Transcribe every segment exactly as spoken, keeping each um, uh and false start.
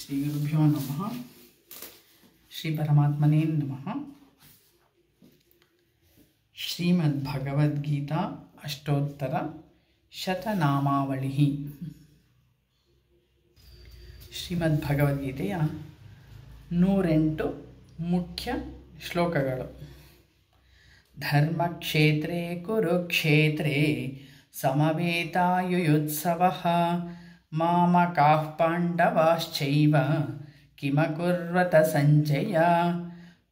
श्रीगुरुभ्यो नमः। श्री परमात्मने नमः। श्रीमद्भगवद्गीता अष्टोत्तर शतनामावलिः। ಶ್ರೀಮದ್ಭಗವದ್ಗೀತೆಯ ನೂರೆಂಟು ಮುಖ್ಯ ಶ್ಲೋಕಗಳು. ಧರ್ಮಕ್ಷೇತ್ರೇ ಕುರುಕ್ಷೇತ್ರೇ ಸಮವೇತಾಯುಯುತ್ಸವಃ ಮಾಮಕಾಃ ಪಾಂಡವಾಶ್ಚೈವ ಕಿಮಕುರ್ವತ ಸಂಜಯ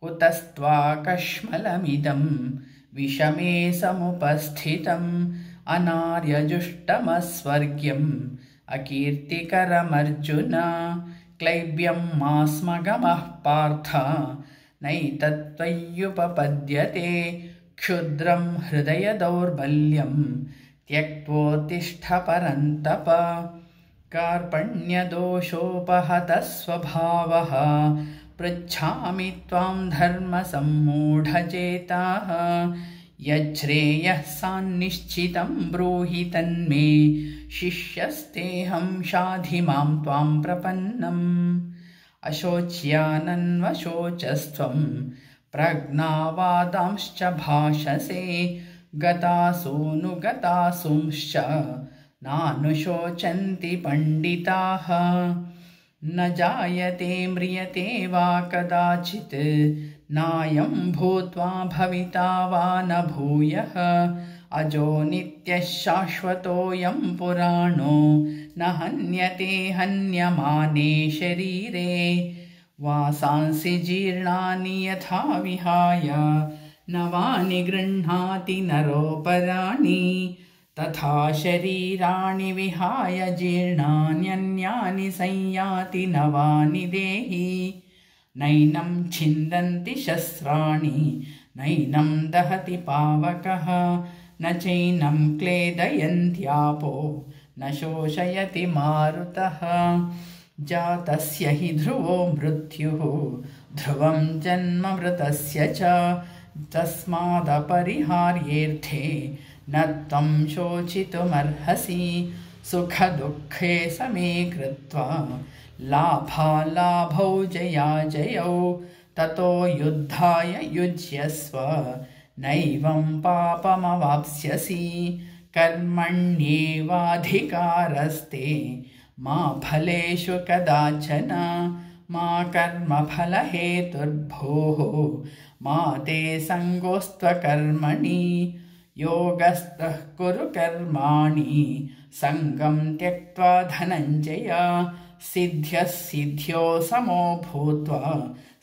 ಕುತಸ್ತ್ವಾ ಕಶ್ಮಲಮಿದಂ ವಿಷಮೇ ಸಮುಪಸ್ಥಿತಂ ಅನಾರ್ಯಜುಷ್ಟಮಸ್ವರ್ಗ್ಯಂ ಅಕೀರ್ತಿಕರಮರ್ಜುನ ಕ್ಲೈಬ್ಯಂ ಮಾಸ್ಮಗಮಃ ಪಾರ್ಥ ನೈತತ್ತ್ವಯ್ಯುಪಪದ್ಯತೆ ಕ್ಷುದ್ರಂ ಹೃದಯ ದೌರ್ಬಲ್ಯಂ ತ್ಯಕ್ತ್ವೋತ್ತಿಷ್ಠ ಪರಂತಪ ಕಾರ್ಪಣ್ಯದೋಷೋಪಹತಃ ಸ್ವಭಾವಃ ಪೃಚ್ಛಾಮಿ ತ್ವಾಂ ಧರ್ಮ ಸಮ್ಮೂಢಚೇತಾಃ ಯಚ್ಛ್ರೇಯಃ ಸಾನ್ನಿಶ್ಚಿತಂ ಬ್ರೂಹಿ ತನ್ಮೇ ಶಿಷ್ಯಸ್ತೇಹಂ ಶಾಧಿ ಮಾಂ ತ್ವಾಂ ಪ್ರಪನ್ನಂ ಅಶೋಚ್ಯಾನನ್ವಶೋಚಸ್ತ್ವಂ ಪ್ರಜ್ಞಾವಾದಾಂಶ್ಚ ಭಾಷಸೆ ಗತಾಸೂನುಗತಾಸೂಂಶ್ಚ ನಾನುಶೋಚಂತಿ ಪಂಡಿತಾಃ ನ ಜಾಯತೆ ಮ್ರಿಯತೆ ವಾ ಕದಾಚಿತ್ ನಾಯಂ ಭೂತ್ವಾ ಭವಿತಾ ವಾ ನ ಭೂಯಃ ಅಜೋ ನಿತ್ಯಃ ಶಾಶ್ವತೋಯಂ ಪುರಾಣೋ ನ ಹನ್ಯತೆ ಹನ್ಯಮಾನೇ ಶರೀರೇ ವಾಸಾಂಸಿ ಜೀರ್ಣಾನಿ ಯಥಾ ವಿಹಾಯ ನವಾನಿ ಗೃಹ್ಣಾತಿ ನರೋಪರಾಣಿ ತಥಾ ಶರೀರಾಣಿ ವಿಹಾಯ ಜೀರ್ಣಾನ್ಯನ್ಯಾನಿ ಸಂಯಾತಿ ನವಾನಿ ದೇಹಿ ನೈನಂ ಛಿಂದಂತಿ ಶಸ್ತ್ರಾಣಿ ನೈನಂ ದಹತಿ ಪಾವಕಃ ನ ಚೈನಂ ಕ್ಲೇದಯಂತ್ಯಾಪೋ ನ ಶೋಷಯತಿ ಮಾರುತಃ ಜಾತಸ್ಯ ಹಿ ಧ್ರುವೋ ಮೃತ್ಯುಃ ಧ್ರುವಂ ಜನ್ಮ ಮೃತಸ್ಯ ಚ ತಸ್ಮಾದಪರಿಹಾರ್ಯೇರ್ಥೇ ನ ತ್ವಂ ಶೋಚಿತುಮರ್ಹಸಿ ಸುಖ ದುಃಖೇ ಸಮೇ ಕೃತ್ವಾ ಲಾಭಾಲಾಭೌ ಜಯಾಜಯೌ ತತೋ ಯುದ್ಧಾಯ ಯುಜ್ಯಸ್ವ ನೈವಂ ಪಾಪಮವಾಪ್ಸ್ಯಸಿ ಕರ್ಮಣ್ಯೇವಾಧಿಕಾರಸ್ತೆ ಮಾ ಫಲೇಷು ಕದಾಚನ ಮಾ ಕರ್ಮಫಲಹೇತುರ್ಭೂಃ ಮಾ ತೇ ಸಂಗೋಸ್ತ್ವಕರ್ಮಣಿ ಯೋಗಸ್ಥಃ ಕುರು ಕರ್ಮಾಣಿ ಸಂಗಂ ತ್ಯಕ್ತ್ವಾ ಧನಂಜಯ ಸಿದ್ಧ್ಯಃ ಸಿದ್ಧ್ಯೋ ಸಮೋ ಭೂತ್ವಾ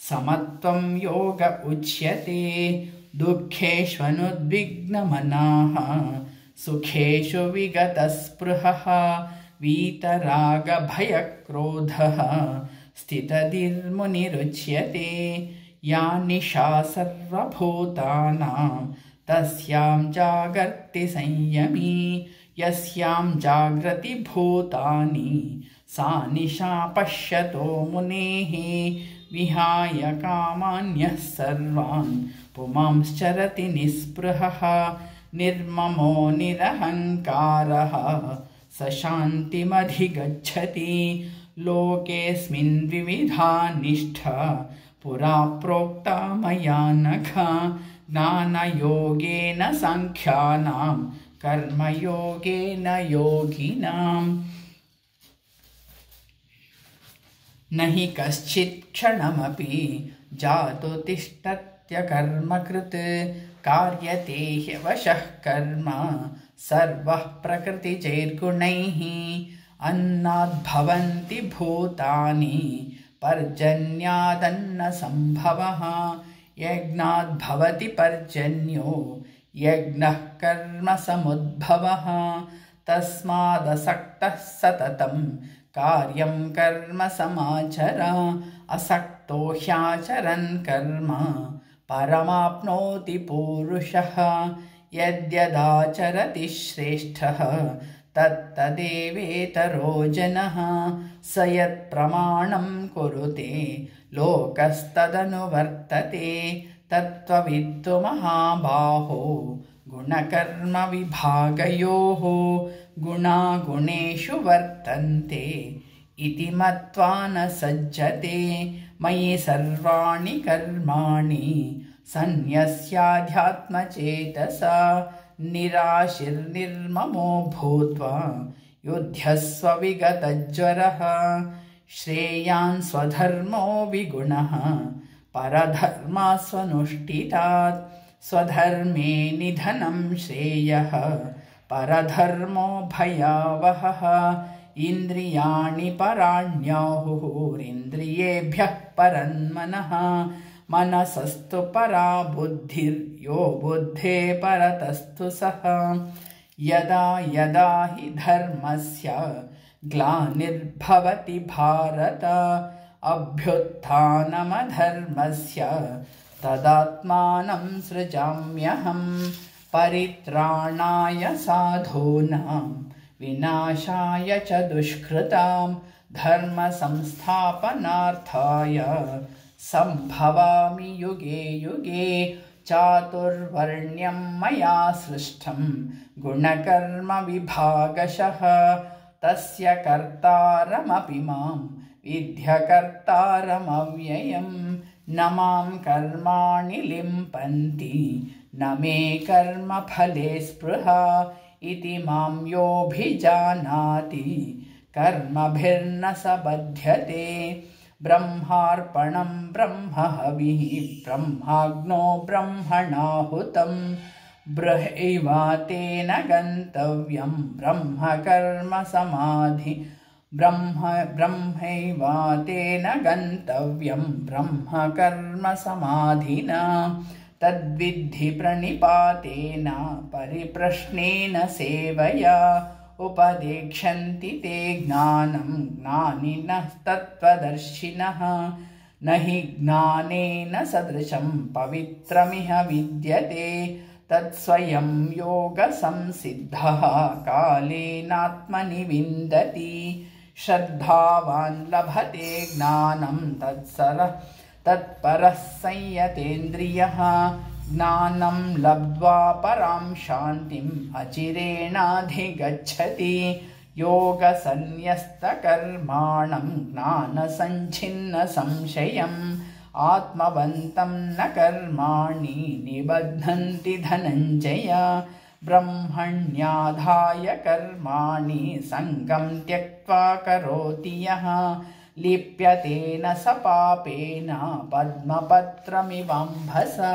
ಸಮತ್ವಂ ಯೋಗ ಉಚ್ಯತೆ ದುಃಖೇಷ್ವನುದ್ವಿಗ್ನಮನಾಃ ಸುಖೇಷು ವಿಗತಸ್ಪೃಹಃ ವೀತರಾಗಭಯಕ್ರೋಧಃ ಸ್ಥಿತಧಿರ್ಮುನಿರುಚ್ಯತೆ ಯಾ ನಿಶಾ ಸರ್ವಭೂತಾನಾಂ ತಸ್ಯಾಂ ಜಾಗರ್ತಿ ಸಂಯಮಿ ಯಸ್ಯಾಂ ಜಾಗ್ರತಿ ಭೂತಾನಿ ಸಾ ನಿಶಾ ಪಶ್ಯತೋ ಮುನೇಃ ವಿಹಾಯ ಕಾಮಾನ್ಯಃ ಸರ್ವಾನ್ ಪುಮಾಂಶ್ಚರತಿ ನಿಸ್ಪೃಹಃ ನಿರ್ಮಮೋ ನಿರಹಂಕಾರಃ ಸ ಶಾಂತಿಮಧಿಗಚ್ಚತಿ ಲೋಕೇಸ್ಮಿನ್ ವಿವಿಧಾ ನಿಷ್ಠಾ ಪುರಾ ಪ್ರೋಕ್ತಾ ಮಯಾ ನಘ ಜ್ಞಾನಯೋಗೇನ ಸಾಂಖ್ಯಾನಾಂ ಕರ್ಮಯೋಗೇನ ಯೋಗಿನಾಂ ನಹಿ ಕಶ್ಚಿತ್ ಕ್ಷಣಮಪಿ ಜಾತು ತಿಷ್ಠತ್ಯ ಕರ್ಮಕೃತ್ ಕಾರ್ಯತೆ ಹ್ಯವಶಃ ಕರ್ಮ ಸರ್ವಃ ಪ್ರಕೃತಿಜೈರ್ಗುಣೈಃ ಅನ್ನಾದ್ಭವಂತಿ ಭೂತಾನಿ ಪರ್ಜನ್ಯಾದನ್ನ ಸಂಭವಃ ಯಜ್ಞಾದ್ಭವತಿ ಪರ್ಜನ್ಯೋ ಯಜ್ಞಃ ಕರ್ಮ ಸಮುದ್ಭವಃ ತಸ್ಮಾದಸಕ್ತಃ ಸತತಂ ಕಾರ್ಯಂ ಕರ್ಮ ಸಮಾಚರ ಅಸಕ್ತೋ ಹ್ಯಾಚರನ್ ಕರ್ಮ ಪರಮಾಪ್ನೋತಿ ಪೂರುಷಃ ಯದ್ಯದಾಚರತಿ ಶ್ರೇಷ್ಠಃ ತತ್ತದೇವೇತರೋ ಜನಃ ಸ ಯತ್ ಪ್ರಮಾಣಂ ಕುರುತೆ ಲೋಕಸ್ತದನುವರ್ತತೆ ತತ್ವವಿತ್ತು ಮಹಾಬಾಹೋ ಗುಣಕರ್ಮ ವಿಭಾಗಯೋಃ ಗುಣಾಗುಣೇಷು ವರ್ತಂತೆ इति मत्वा न सज्जते मयि सर्वाणि कर्माणि सन्न्यस्याध्यात्मचेतसा निराशिर्निर्ममो भूत्वा युध्यस्व विगतज्वरः श्रेयान् स्वधर्मो विगुणः परधर्मास्वनुष्ठितात् स्वधर्मे निधनं श्रेयः परधर्मो भयावहः इन्द्रियाणि पराण्याहुरिन्द्रियेभ्यः परन्मनः मनसस्तु परा बुद्धिर्यो बुद्धे परतस्तु सः यदा यदा हि धर्मस्य ग्लानिर्भवति भारत अभ्युत्थानमधर्मस्य तदात्मानं सृजाम्यहं परित्राणाय साधूनां विनाशाय च दुष्कृतां धर्मसंस्थापनार्थाय सम्भवामि युगे युगे चातुर्वर्ण्यं मया सृष्टं गुणकर्मविभागशः तस्य कर्तारमपि मां विद्यकर्तारमव्ययं न मां कर्माणि लिम्पन्ति न मे कर्मफले स्पृहा इति मां योऽभिजानाति कर्मभिर्न स बध्यते ब्रह्मार्पणं ब्रह्महविः ब्रह्माग्नो ब्रह्मणाहुतं ब्रह्मैवातेन गन्तव्यं ब्रह्मकर्मसमाधि ब्रह्म ब्रह्मैवातेन गन्तव्यं ब्रह्मकर्मसमाधिना तद्विद्धि प्रणिपातेन परिप्रश्नेन सेवया उपदेक्षन्ति ते ज्ञानं ज्ञानिनः तत्त्वदर्शिनः न हि ज्ञानेन सदृशं पवित्रमिह विद्यते तत्स्वयं योगसंसिद्धः कालेनात्मनि विन्दति श्रद्धावान् लभते ज्ञानं तत्सरः तत्परः संयतेन्द्रियः ज्ञानं लब्ध्वा परां शान्तिम् अचिरेणाधिगच्छति योगसन्न्यस्तकर्माणं ज्ञानसञ्छिन्नसंशयम् आत्मवन्तं न कर्माणि निबध्नन्ति धनञ्जय ब्रह्मण्याधाय कर्माणि सङ्गं त्यक्त्वा करोति यः लिप्यतेन स पापेन पद्मपत्रमिवाम्भसा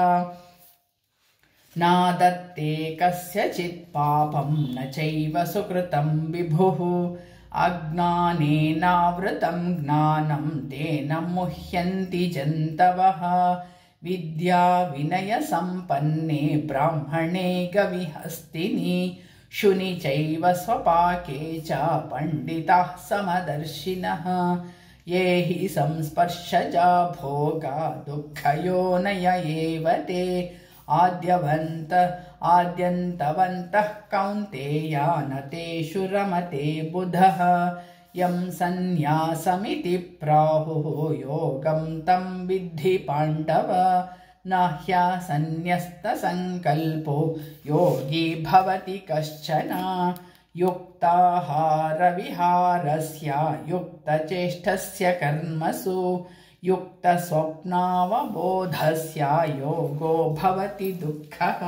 नादत्ते कस्यचित् पापं न चैव सुकृतं विभुः अज्ञानेनावृतं ज्ञानं तेन मुह्यन्ति जन्तवः विद्या विनयसम्पन्ने ब्राह्मणे गविहस्तिनि शुनि चैव स्वपाके च पंडिताः समदर्शिनः ये हि संस्पर्शजा भोगा दुःखयोनय एव ते आद्यवन्त आद्यन्तवन्तः कौन्तेया न तेषु रमते बुधः यं सन्न्यासमिति प्राहुः योगं तं विद्धि पाण्डव न ह्यसन्न्यस्तसङ्कल्पो योगी भवति कश्चन युक्ताहारविहारस्य युक्तचेष्टस्य कर्मसु युक्तस्वप्नावबोधस्य योगो भवति दुःखः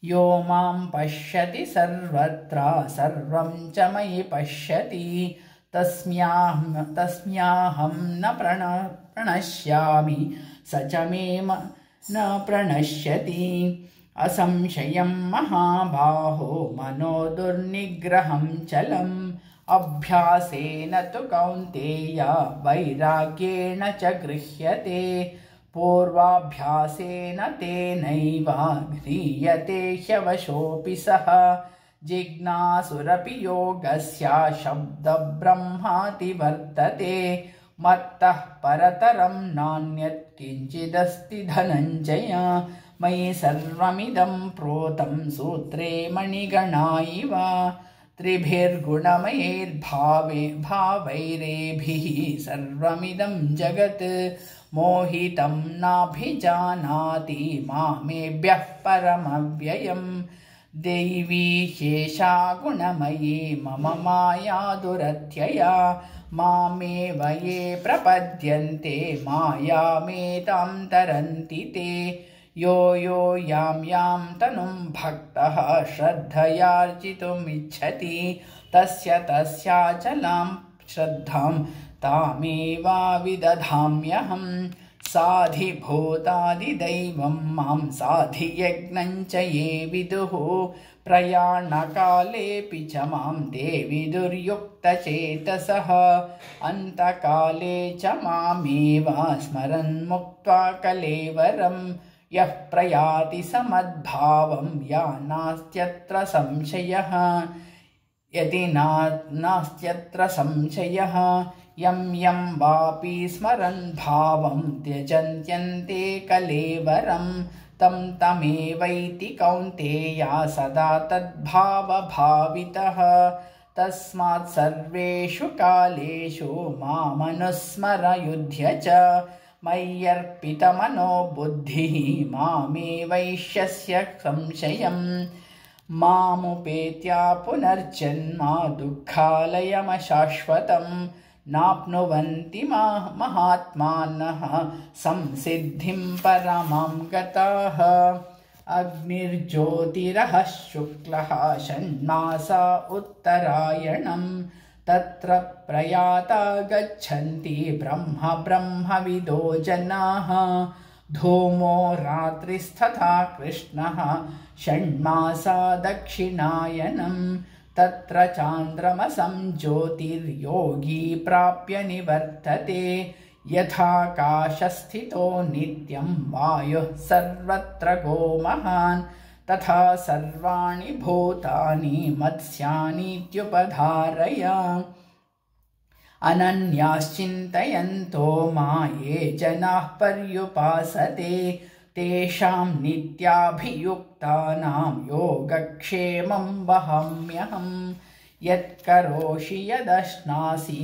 यो मां पश्यति सर्वत्र सर्वं च मयि पश्यति तस्म्याहं तस्म्याहं न प्रण प्रणश्यामि स च मे न प्रणश्यति असंशयं महाबाहो मनो दुर्निग्रहं चलम् अभ्यासेन तु कौन्तेय वैराग्येण च गृह्यते पूर्वाभ्यासेन तेनैव ह्रियते ह्यवशोऽपि सः जिज्ञासुरपि योगस्य शब्दब्रह्माति वर्तते मत्तः परतरं नान्यत् किञ्चिदस्ति धनञ्जय मयि सर्वमिदं प्रोतं सूत्रे मणिगणा इव त्रिभिर्गुणमयैर्भावे भावैरेभिः सर्वमिदं जगत् मोहितं नाभिजानाति मामेभ्यः परमव्ययम् दैवी शेषा गुणमयी मम माया दुरत्यया मामेव ये प्रपद्यन्ते मायामेतां तरन्ति ते यो यो यां यां तनुं भक्तः श्रद्धयार्जितुमिच्छति तस्य तस्याचलां श्रद्धां तामेवाविदधाम्यहम् साधिभूतादिदैवं मां साधियज्ञं च ये विदुः प्रयाणकालेऽपि च मां ते विदुर्युक्तचेतसः अन्तकाले च मामेव स्मरन्मुक्त्वा कलेवरं यः प्रयाति समद्भावं यानास्त्यत्र संशयः यदि नास्त्यत्र संशयः यं यं वापि स्मरन् भावं त्यजन्त्यन्ते कलेवरं तं तमेवैति कौन्तेया सदा तद्भावभावितः तस्मात् सर्वेषु कालेषु मामनुस्मर युध्य च मय्यर्पितमनो बुद्धिः मामेवैष्यस्य संशयम् मामुपेत्या पुनर्जन्म दुःखालयमशाश्वतं नाप्नुवन्ति महात्मानः संसिद्धिं परमां गताः अग्निर्ज्योतिरः शुक्लः षण्मासा उत्तरायणं तत्र प्रयाता गच्छन्ति ब्रह्म ब्रह्मविदो जनाः धूमो रात्रिस्तथा कृष्णः षण्मासा दक्षिणायनं तत्र चान्द्रमसं ज्योतिर्योगी प्राप्य निवर्तते यथाकाशस्थितो नित्यं वायुः सर्वत्र गोमहान् तथा सर्वाणि भूतानि मत्स्यानीत्युपधारय अनन्याश्चिन्तयन्तो मा ये जनाः पर्युपासते तेषां नित्याभियुक्तानां योगक्षेमं वहाम्यहम् यत्करोषि यदश्नासि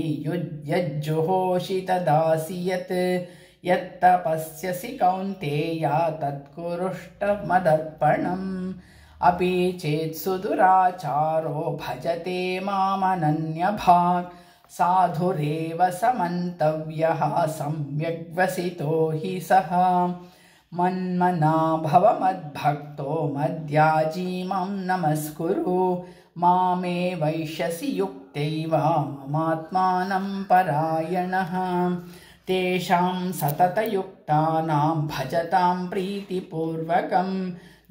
यज्जुहोषि तदासि यत् यत्तपस्यसि कौन्तेया तत्कुरुष्टमदर्पणम् अपि चेत् सुदुराचारो भजते मामनन्यभाक् साधुरेव समन्तव्यः सम्यग्वसितो हि सः मन्मना भव मद्भक्तो मद्याजी मां नमस्कुरु मामे वैश्यसि युक्तैव ममात्मानं परायणः तेषां सततयुक्तानां भजतां प्रीतिपूर्वकं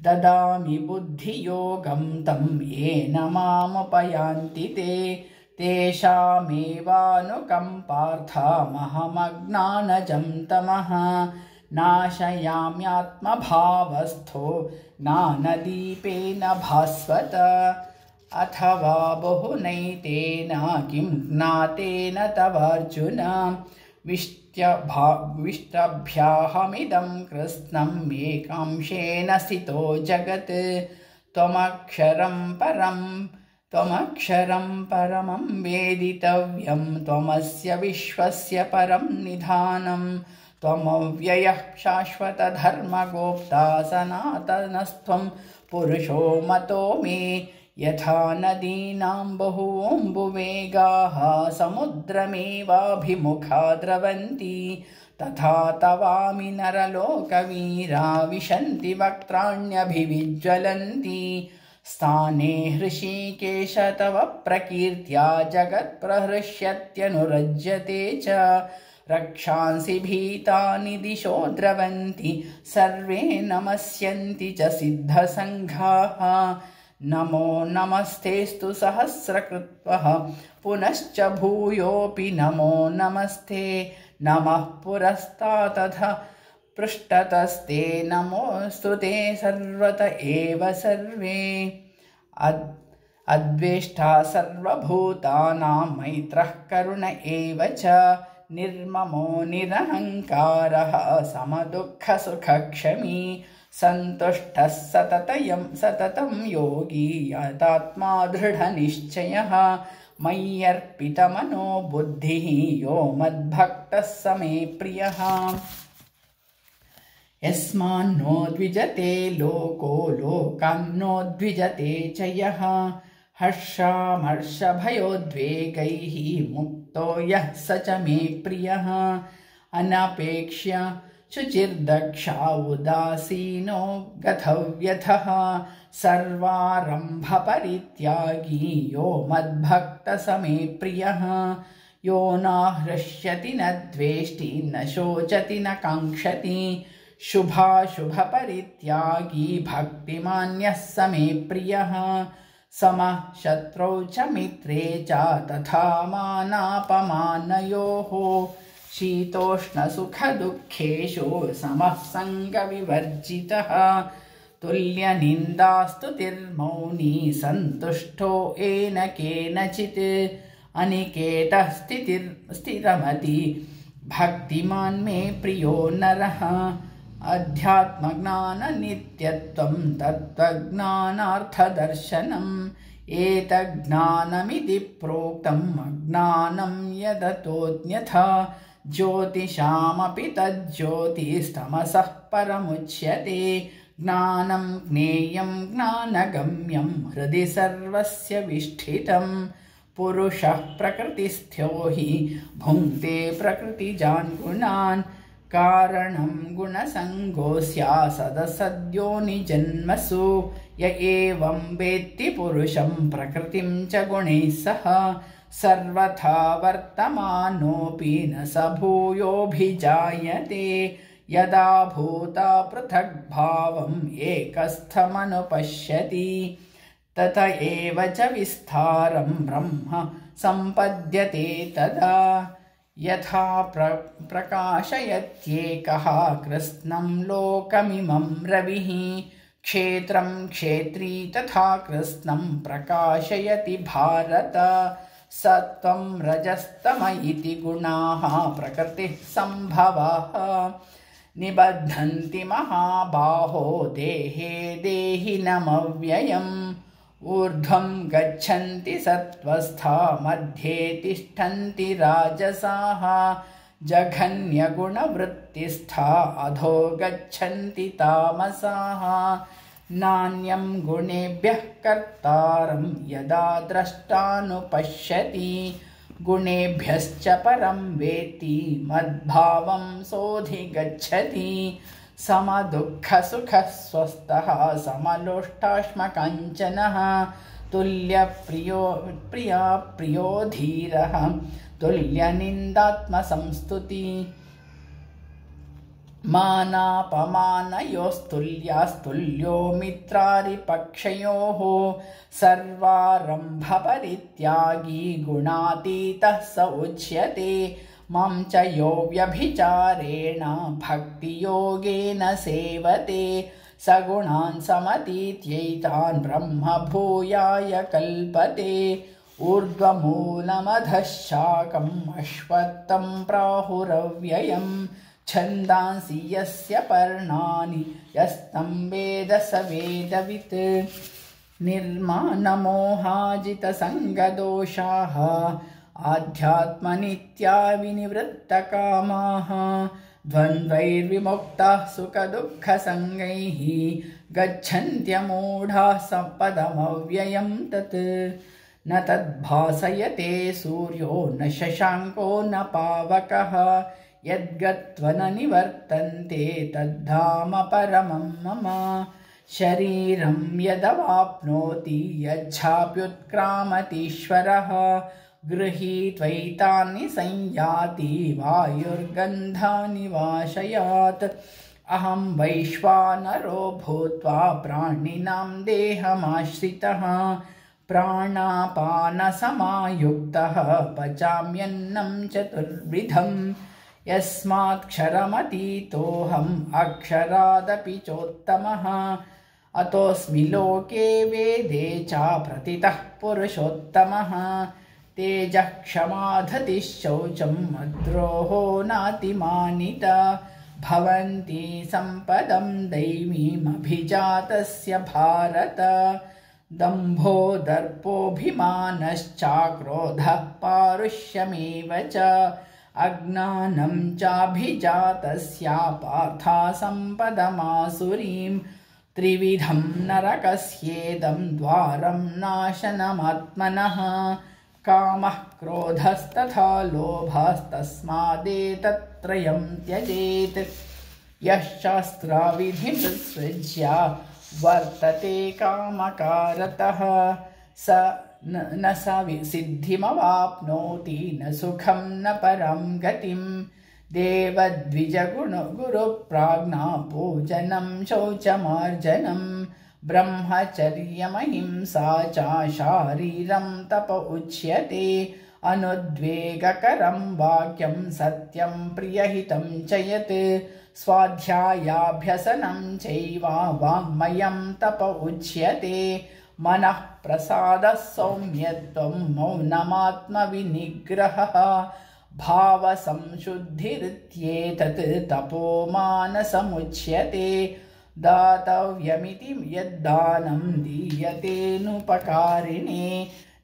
ददामि बुद्धियोगं तं येन मामुपयान्ति ते तेषामेवानुकम्पार्थमहमज्ञानजं तमः नाशयाम्यात्मभावस्थो ज्ञानदीपेन भास्वत अथवा बहुनैतेन किं ज्ञातेन तवार्जुन विष्टभ्याहमिदं कृत्स्नम् एकांशेन स्थितो जगत् त्वमक्षरं परं त्वमक्षरं परमं वेदितव्यं त्वमस्य विश्वस्य परं निधानं त्वमव्ययः शाश्वतधर्मगोप्ता सनातनस्त्वं पुरुषो मतो मे यथा नदीनां बहूम्बुवेगाः समुद्रमेवाभिमुखा द्रवन्ति तथा तवामि नरलोकवीरा विशन्ति वक्त्राण्यभिविज्वलन्ति स्थाने हृषीकेश तव प्रकीर्त्या जगत्प्रहृष्यत्यनुरज्यते च रक्षांसि भीतानि दिशो द्रवन्ति सर्वे नमस्यन्ति च सिद्धसङ्घाः नमो नमस्तेस्तु सहस्रकृत्वः पुनश्च भूयोऽपि नमो नमस्ते नमः पुरस्तादथ पृष्ठतस्ते नमोऽस्तु ते सर्वत एव सर्वे अद्वेष्टा सर्वभूतानां मैत्रः करुण एव च निर्ममो निरहङ्कारः समदुःखसुखक्षमी सन्तुष्टः सततं सततं योगी यतात्मा दृढनिश्चयः मय्यर्पितमनो बुद्धिः यो मद्भक्तः स मे प्रियः यस्मान्नो द्विजते लोको लोकान्नो च यः हर्षामर्षभयोद्वेगैः मुक्तो यः स च मे प्रियः अनपेक्ष्य शुचिर्दक्षा उदासीनो गतव्यथः सर्वारम्भपरित्यागी यो मद्भक्तः स मे प्रियः यो न हृष्यति न द्वेष्टि न शोचति न काङ्क्षति शुभाशुभपरित्यागी भक्तिमान्यः स मे प्रियः समः शत्रौ च मित्रे च तथा मानापमानयोः शीतोष्णसुखदुःखेषु समः सङ्गविवर्जितः तुल्यनिन्दास्तुतिर्मौनी सन्तुष्टो येन केनचित् अनिकेतः स्थिरमति भक्तिमान् मे प्रियो नरः अध्यात्मज्ञाननित्यत्वं तत्त्वज्ञानार्थदर्शनम् एतज्ज्ञानमिति प्रोक्तम् अज्ञानं यदतोऽन्यथा ज्योतिषामपि तज्ज्योतिस्तमसः परमुच्यते ज्ञानं ज्ञेयं ज्ञानगम्यं हृदि सर्वस्य विष्ठितम् पुरुषः प्रकृतिस्थो हि भुङ्क्ते प्रकृतिजान् गुणान् कारणं गुणसङ्गोऽस्या सदसद्योनिजन्मसु य एवं वेत्ति पुरुषं प्रकृतिं च गुणैः सह सर्वथा वर्तमानोऽपि न स भूयोऽभिजायते यदा भूता पृथग्भावम् एकस्थमनुपश्यति तत एव च विस्तारं ब्रह्म सम्पद्यते तदा यथा प्र प्रकाशयत्येकः कृत्स्नं लोकमिमं रविः क्षेत्रं क्षेत्री तथा कृत्स्नं प्रकाशयति भारत सत्वं रजस्तम इति गुणाः प्रकृतिः सम्भवाः निबध्नन्ति महाबाहो देहे देहिनमव्ययम् ऊर्ध्वं गच्छन्ति सत्त्वस्था मध्ये तिष्ठन्ति राजसाः जघन्यगुणवृत्तिस्था अधो गच्छन्ति तामसाः नान्यं गुणेभ्यः कर्तारं यदा द्रष्टानुपश्यति गुणेभ्यश्च परं वेत्ति मद्भावं सोऽधिगच्छति समदुःखसुखः स्वस्थः समलोष्टाश्मकाञ्चनः तुल्यप्रियो प्रिया प्रियो धीरः तुल्यनिन्दात्मसंस्तुति मानापमानयोस्तुल्यास्तुल्यो मित्रारिपक्षयोः सर्वारम्भपरित्यागी गुणातीतः स उच्यते मां च यो व्यभिचारेण भक्तियोगेन सेवते सगुणान् समतीत्यैतान् ब्रह्मभूयाय कल्पते ऊर्ध्वमूलमधः शाकम् अश्वत्थं प्राहुरव्ययम् छन्दांसि यस्य पर्णानि यस्तं वेद स वेदवित् निर्मानमोहाजितसङ्गदोषाः आध्यात्मनित्या विनिवृत्तकामाः द्वन्द्वैर्विमुक्ताः सुखदुःखसङ्गैः गच्छन्त्यमूढाः सम्पदमव्ययं तत् न तद्भासयते सूर्यो न शशाङ्को न पावकः यद्गत्वा न निवर्तन्ते तद्धाम परमं मम शरीरं यदवाप्नोति यच्छाप्युत्क्रामतीश्वरः गृहीत्वैतानि संयाति वायुर्गन्धानि वाशयात् अहं वैश्वानरो भूत्वा प्राणिनां देहमाश्रितः प्राणापानसमायुक्तः पचाम्यन्नं चतुर्विधम् यस्मात्क्षरमतीतोऽहम् अक्षरादपि चोत्तमः अतोऽस्मि लोके वेदे च प्रतितः पुरुषोत्तमः तेजः क्षमाधतिः शौचं मद्रोहो नातिमानिता भवन्ति सम्पदं दैवीमभिजातस्य भारत दम्भो दर्पोऽभिमानश्चाक्रोधः पारुष्यमेव च अज्ञानं चाभिजातस्या पार्था सम्पदमासुरीं त्रिविधं नरकस्येदं द्वारं नाशनमात्मनः कामः क्रोधस्तथा लोभस्तस्मादेतत्त्रयं त्यजेत् यश्शास्त्रविधिमुत्सृज्य वर्तते कामकारतः स न स सिद्धिमवाप्नोति न सुखं न परं गतिं देवद्विजगुरुप्राज्ञा पूजनं शौचमार्जनं ब्रह्मचर्यमहिंसा च शारीरं तप उच्यते अनुद्वेगकरं वाक्यं सत्यं प्रियहितं च यत् स्वाध्यायाभ्यसनं चैव वाङ्मयं तप उच्यते मनः प्रसादः सौम्यत्वं मौनमात्मविनिग्रहः भावसंशुद्धिरित्येतत् तपो मानसमुच्यते दातव्यमिति यद्दानं दीयतेनुपकारिणे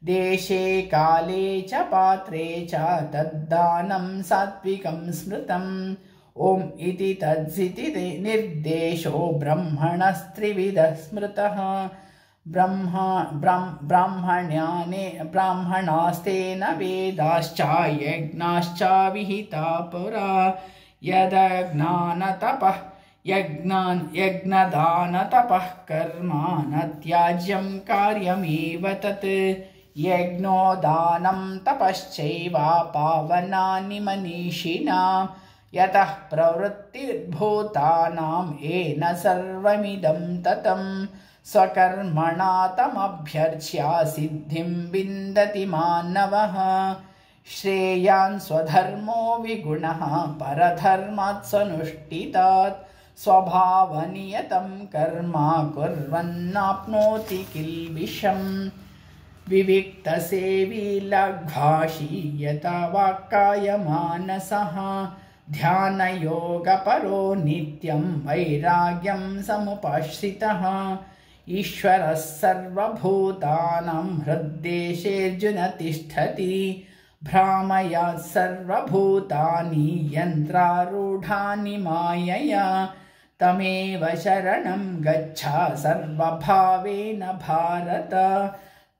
देशे काले च पात्रे च तद्दानं सात्विकं स्मृतम् ओम इति तद्सिति निर्देशो ब्रह्मणस्त्रिविधः स्मृतः ब्रह्मा ब्राह्मण्याने ब्राह्मणास्तेन वेदाश्च यज्ञाश्च विहिता पुरा यदज्ञानतपः यज्ञान यज्ञदानतपः कर्म न त्याज्यं कार्यमेव तत् यज्ञो दानं तपश्चैव पावनानि मनीषिणां यतः प्रवृत्तिर्भूतानाम् येन सर्वमिदं ततं स्वकर्मणा तमभ्यर्च्य सिद्धिं विन्दति मानवः श्रेयान् स्वधर्मो विगुणः परधर्मात् स्वनुष्ठितात् स्वभावनियतं कर्म कुर्वन्नाप्नोति किल्बिषम् विविक्तसेवी लघ्वाशी यथा वाक्कायमानसः ध्यानयोगपरो नित्यं वैराग्यं समुपाश्रितः ईश्वरः सर्वभूतानां हृद्देशेऽर्जुन तिष्ठति भ्रामयात् सर्वभूतानि यन्त्रारूढानि मायया तमेव शरणं गच्छ सर्वभावेन भारत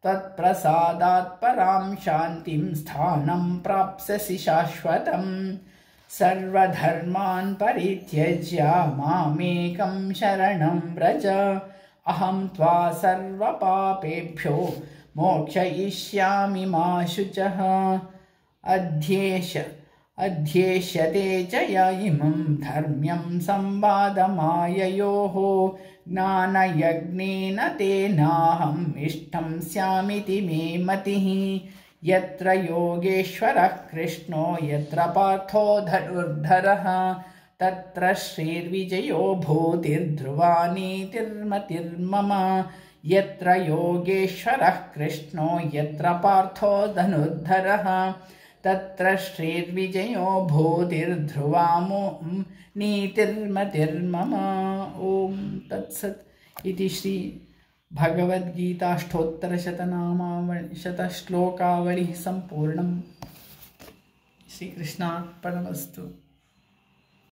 तत्प्रसादात् परां शान्तिं स्थानं प्राप्स्यसि शाश्वतम् सर्वधर्मान् परित्यज्य मामेकं शरणं व्रज अहं त्वा सर्वपापेभ्यो मोक्षयिष्यामि मा शुचः अध्येष अध्येष्यते च य इमं धर्म्यं संवादमाययोः ज्ञानयज्ञेन तेनाहम् इष्टं स्यामिति मे मतिः यत्र योगेश्वरः कृष्णो यत्र पार्थो धनुर्धरः तत्र श्रीर्विजयो भूतिर्ध्रुवा नीतिर्मतिर्मम यत्र योगेश्वरः कृष्णो यत्र पार्थो धनुर्धरः तत्र श्रीर्विजयो भूतिर्ध्रुवा नीतिर्मतिर्मम ओम तत्सत् इति श्री भगवद्गीताष्टोत्तरशतनामावळि शतश्लोकावळिः सम्पूर्णम्। श्रीकृष्णार्पणमस्तु।